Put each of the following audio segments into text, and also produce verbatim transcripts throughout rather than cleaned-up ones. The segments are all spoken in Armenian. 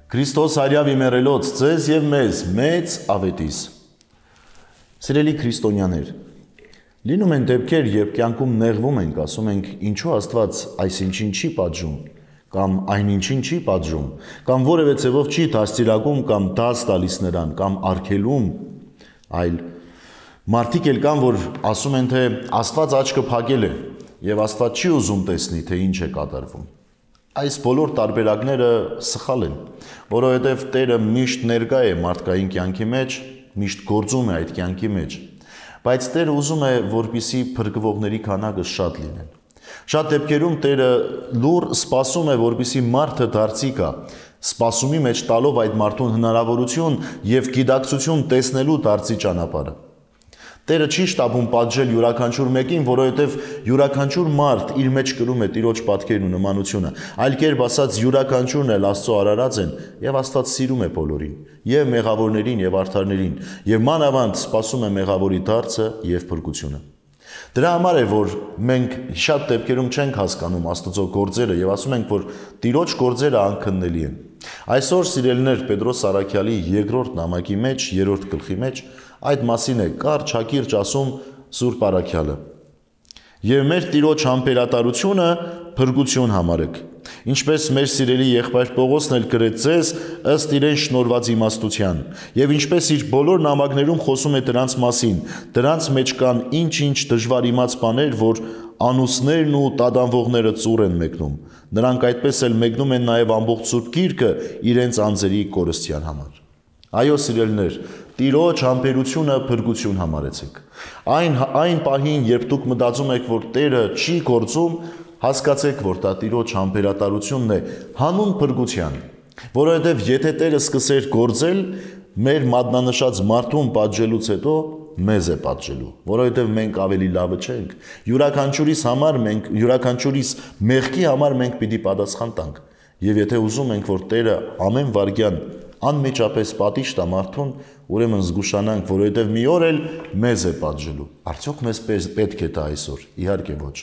Քրիստոս արյավ իմերելոց ձեզ եւ մեզ մեծ ավետիս։ Սիրելի քրիստոնյաներ, լինում են դեպքեր, երբ կյանքում նեղվում ենք, ասում ենք, ինչու Աստված այսինչին չի պատժում, կամ այնինչին չի պատժում, կամ որևէ ձևով չի դաստիարակում կամ դաս տալիս նրան, կամ արգելում, այլ մարդիկ էլ կան, որ ասում են, թե Աստված աչքը փակել է եւ Աստված չի ուզում տեսնի, թե ինչ է կատարվում։ Այս բոլոր տարբերակները սխալ են, որովհետև Տերը միշտ ներկա է մարդկային կյանքի մեջ, միշտ գործում է այդ կյանքի մեջ, բայց Տերը ուզում է, որպեսզի փրկվողների քանակը շատ լինեն։ Շատ դեպքերում Տերը լուր սպասում է, որպեսզի մարդը դարձի գա, սպասումի մեջ տալով այդ մարդուն հնարավորություն եւ գիտակցություն տեսնելու դարձի ճանապարհը։ Տերը չի շտապում պատժել յուրաքանչյուր մեկին, որովհետև յուրաքանչյուր մարդ իր մեջ կրում է Տիրոջ պատկերն ու նմանությունը, այլ կերպ ասած յուրաքանչյուրն էլ Աստծո արարած են եւ Աստված սիրում է բոլորին, եւ մեղավորներին եւ արդարներին, եւ մանավանդ սպասում է մեղավորի դարձը եւ փրկությունը։ Դրա համար է, որ մենք շատ դեպքերում չենք հասկանում Աստծո գործերը եւ ասում ենք, որ Տիրոջ գործերը անքննելի են։ Այսօր սիրելիներ Պետրոս Սարաքյալի երկրորդ նամակի մեջ, երրորդ գլխի մեջ այդ մասին է կարճ հակիրճ ասում Սուրբ Առաքյալը։ Եվ մեր Տիրոջ համբերատարությունը փրկություն համարեք, ինչպես մեր սիրելի եղբայր Պողոսն էլ գրեց ձեզ ըստ իրեն շնորհված իմաստության, եւ ինչպես իր բոլոր նամակներում խոսում է դրանց մասին, դրանց մեջ կան ինչ-ինչ դժվար իմաց բաներ, որ անուսներն ու տադանվողները ծուռ են մեկնում, նրանք այդպես էլ մեկնում են նաեւ ամբողջ Սուրբ Գիրքը իրենց անձերի կորստյան համար։ Այո, սիրելիներ, Տիրոջ համբերությունը փրկություն համարեցեք։ Այն այն պահին, երբ դուք մտածում եք, որ Տերը չի գործում, հասկացեք, որ դա Տիրոջ համբերատարությունն է հանուն փրկության, որովհետև եթե Տերը սկսեր գործել, մեր մատնանշած մարդուն պատժելուց հետո մեզ է պատժելու, որովհետև մենք ավելի լավը չենք։ Յուրաքանչյուրիս համար մենք յուրաքանչյուրիս մեղքի համար մենք պիտի պատասխան տանք։ Եվ եթե ուզում ենք, որ Տերը ամեն վայրկյան անմիջապես պատիժ տա մարդուն, ուրեմն զգուշանանք, որովհետև մի օր էլ մեզ է պատժելու։ Արդյոք մեզ պետք է դա այսօր։ Իհարկե ոչ։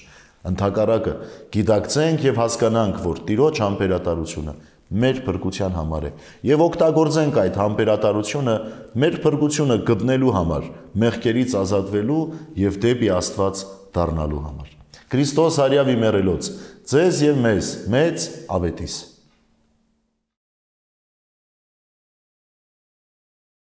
Ընդհակառակը գիտակցենք եւ հասկանանք, որ Տիրոջ համբերատարությունը մեր փրկության համար է եւ օգտագործենք այդ համբերատարությունը մեր փրկությունը գտնելու համար, մեղքերից ազատվելու եւ դեպի Աստված դառնալու համար։ Քրիստոս արյավ իմերելոց ձեզ եւ մեզ մեծ ավետիս։